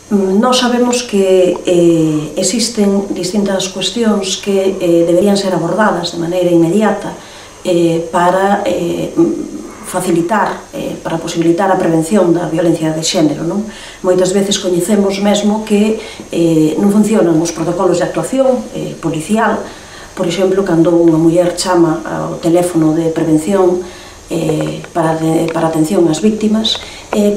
Nós sabemos que existen distintas cuestións que deberían ser abordadas de maneira inmediata para facilitar, para posibilitar a prevención da violencia de xénero. Moitas veces coñecemos mesmo que non funcionan os protocolos de actuación policial, por exemplo, cando unha muller chama ao teléfono de prevención para atención ás víctimas,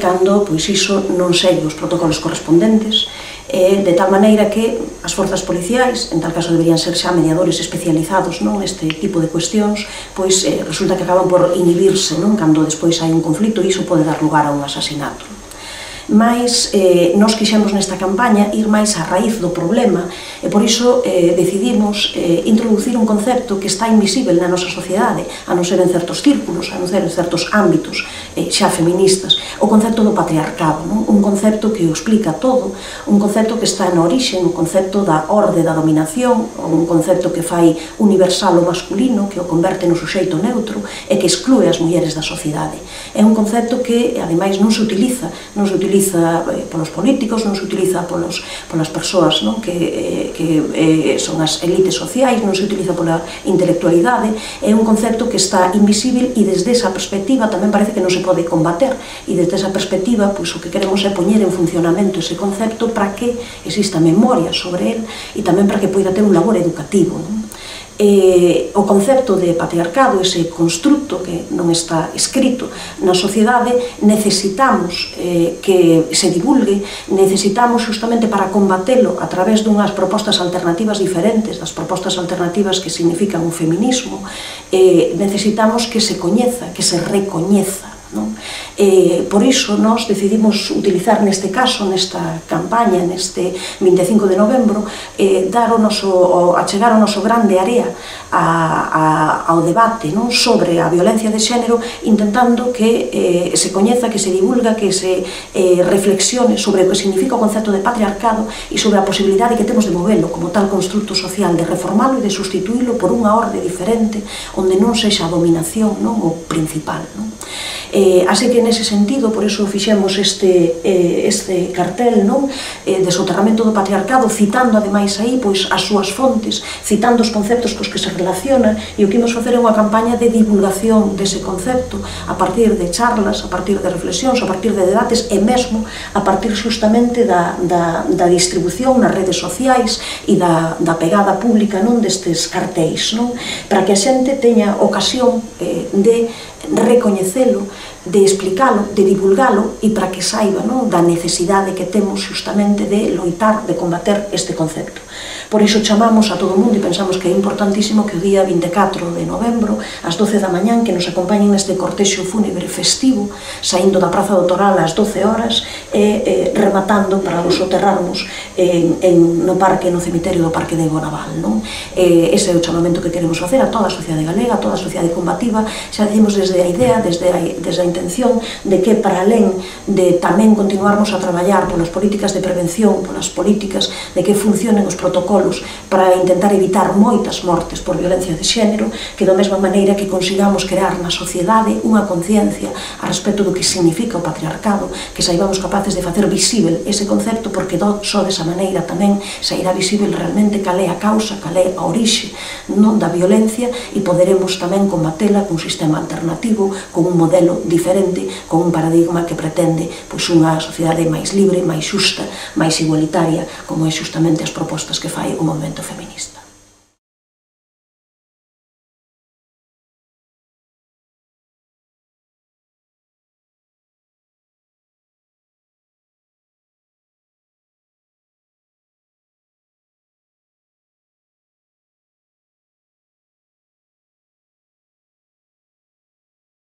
cando iso non segue os protocolos correspondentes, de tal maneira que as forzas policiais, en tal caso deberían ser xa mediadores especializados neste tipo de cuestións, resulta que acaban por inhibirse cando despois hai un conflito e iso pode dar lugar a un asasinato. Mais nós quixemos nesta campaña ir máis á raíz do problema e por iso decidimos introducir un concepto que está invisible na nosa sociedade, a non ser en certos círculos, a non ser en certos ámbitos xa feministas, o concepto do patriarcado, un concepto que o explica todo, un concepto que está na orixe, un concepto da orde da dominación, un concepto que fai universal o masculino, que o converte no suxeito neutro e que exclúe as mulleres da sociedade. É un concepto que, ademais, non se utiliza polos políticos, non se utiliza polas persoas que son as elites sociais, non se utiliza pola intelectualidade, é un concepto que está invisible e desde esa perspectiva tamén parece que non se pode combater e desde esa perspectiva o que queremos é poñer en funcionamento ese concepto para que exista memoria sobre el e tamén para que poida ter un labor educativo. O concepto de patriarcado, ese construto que non está escrito na sociedade, necesitamos que se divulgue, necesitamos justamente para combatelo a través dunhas propostas alternativas diferentes, das propostas alternativas que significan o feminismo, necesitamos que se coñeza, que se recoñeza. Por iso nós decidimos utilizar neste caso, nesta campaña, neste 25 de novembro, achegar o noso grande area ao debate sobre a violencia de xénero, intentando que se coñeza, que se divulga, que se reflexione sobre o que significa o concepto de patriarcado e sobre a posibilidade que temos de movelo como tal construto social, de reformalo e de sustituílo por unha orde diferente onde non sexa a dominación o principal. Así que nese sentido, por iso fixemos este cartel de soterramento do patriarcado, citando ademais aí as súas fontes, citando os conceptos cos que se relaciona, e o que imos facer é unha campaña de divulgación dese concepto a partir de charlas, a partir de reflexións, a partir de debates e mesmo a partir justamente da distribución nas redes sociais e da pegada pública destes cartéis, para que a xente teña ocasión de recoñecelo, de explicalo, de divulgalo e para que saiba da necesidade que temos justamente de loitar, de combater este concepto. Por iso chamamos a todo o mundo e pensamos que é importantísimo que o día 24 de novembro, ás 12 da mañán, que nos acompañen neste cortexo fúnebre festivo, saindo da Praza do Toral ás 12 horas e rematando para os soterrarmos no cemiterio do Parque de Bonaval. Ese é o chamamento que queremos facer a toda a sociedade galega, a toda a sociedade combativa. Xa decimos desde a idea, desde a intención de que para alén de tamén continuarmos a traballar polas políticas de prevención, polas políticas de que funcionen os protocolos para intentar evitar moitas mortes por violencia de xénero, que da mesma maneira que consigamos crear na sociedade unha conciencia a respecto do que significa o patriarcado, que saibamos capaces de facer visível ese concepto, porque só desa maneira tamén sairá visível realmente cal é a causa, cal é a orixe da violencia e poderemos tamén combatela cun sistema alternativo, con un modelo diferente, con un paradigma que pretende unha sociedade máis libre, máis xusta, máis igualitaria, como é xustamente as propostas que fai o movemento feminista.